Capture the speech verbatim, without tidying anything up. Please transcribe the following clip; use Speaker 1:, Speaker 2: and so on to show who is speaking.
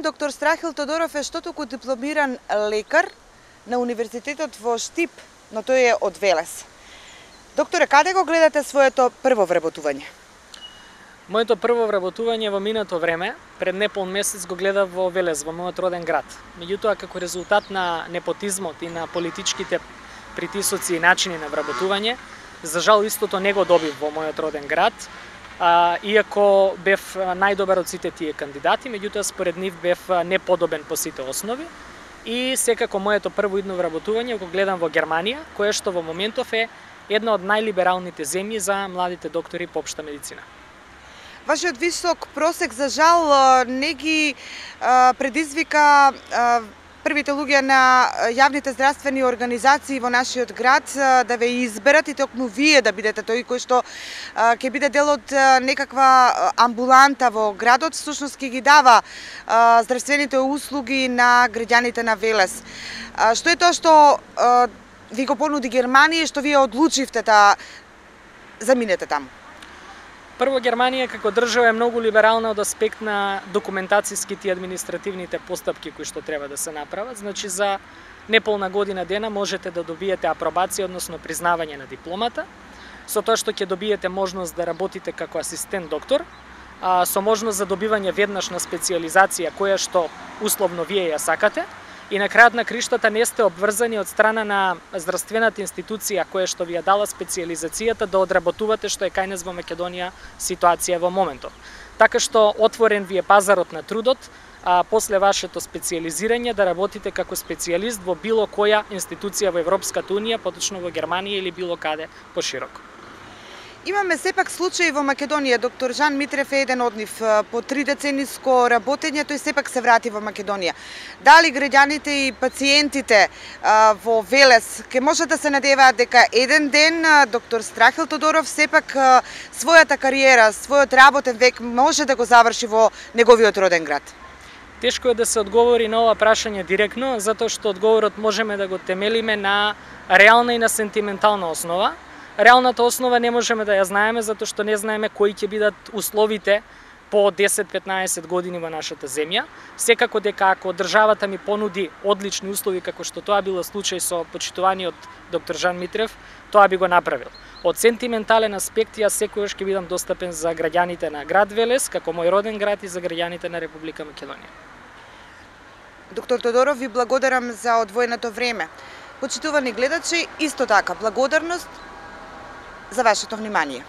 Speaker 1: Доктор Страхил Тодоров е што току дипломиран лекар на Универзитетот во Штип, но тој е од Велес. Докторе, каде го гледате своето прво вработување?
Speaker 2: Моето прво вработување во минато време, пред непол месец го гледав во Велес, во мојот роден град. Меѓутоа, како резултат на непотизмот и на политичките притисоци и начини на вработување, за жал истото не го добив во мојот роден град, а, иако бев најдобар од сите тие кандидати, меѓутоа според нив бев неподобен по сите основи. И секако моето прво идно вработување го гледам во Германија, кое што во моментов е една од најлибералните земји за младите доктори по општа медицина.
Speaker 1: Вашиот висок просек, за жал, не ги предизвика првите луѓе на јавните здравствени организации во нашиот град да ве изберат и токму вие да бидете тој кој што ќе биде дел од некаква амбуланта во градот, всушност ќе ги дава здравствените услуги на граѓаните на Велес. Што е тоа што ви го понуди Германија и што вие одлучивте да заминете таму?
Speaker 2: Прво, Германија како држава е многу либерална од аспект на документацијските и административните постапки кои што треба да се направат. Значи, за неполна година дена можете да добиете апробација, односно признавање на дипломата, со тоа што ќе добиете можност да работите како асистент доктор, а, со можност за добивање веднаш на специјализација која што условно вие ја сакате, и на крајот на криштата не сте обврзани од страна на здравствената институција која што ви ја дала специјализацијата да одработувате, што е кај нас во Македонија ситуација во моментов. Така што отворен ви е пазарот на трудот, а после вашето специјализирање да работите како специјалист во било која институција во Европската унија, поточно во Германија или било каде пошироко.
Speaker 1: Имаме сепак случаи во Македонија. Доктор Жан Митрев е еден од нив. По три децениско работење тој сепак се врати во Македонија. Дали граѓаните и пациентите во Велес ќе може да се надеваат дека еден ден доктор Страхил Тодоров сепак својата кариера, својот работен век може да го заврши во неговиот роден град?
Speaker 2: Тешко е да се одговори на ова прашање директно, затоа што одговорот можеме да го темелиме на реална и на сентиментална основа. Реалната основа не можеме да ја знаеме, затоа што не знаеме кои ќе бидат условите по десет-петнаесет години во нашата земја. Секако дека ако државата ми понуди одлични услови, како што тоа било случај со почитуваниот доктор Жан Митрев, тоа би го направил. Од сентиментален аспект, јас секогаш ќе бидам достапен за граѓаните на град Велес, како мој роден град, и за граѓаните на Република Македонија.
Speaker 1: Доктор Тодоров, ви благодарам за одвоеното време. Почитувани гледачи, исто така, благодарност за вашето внимание.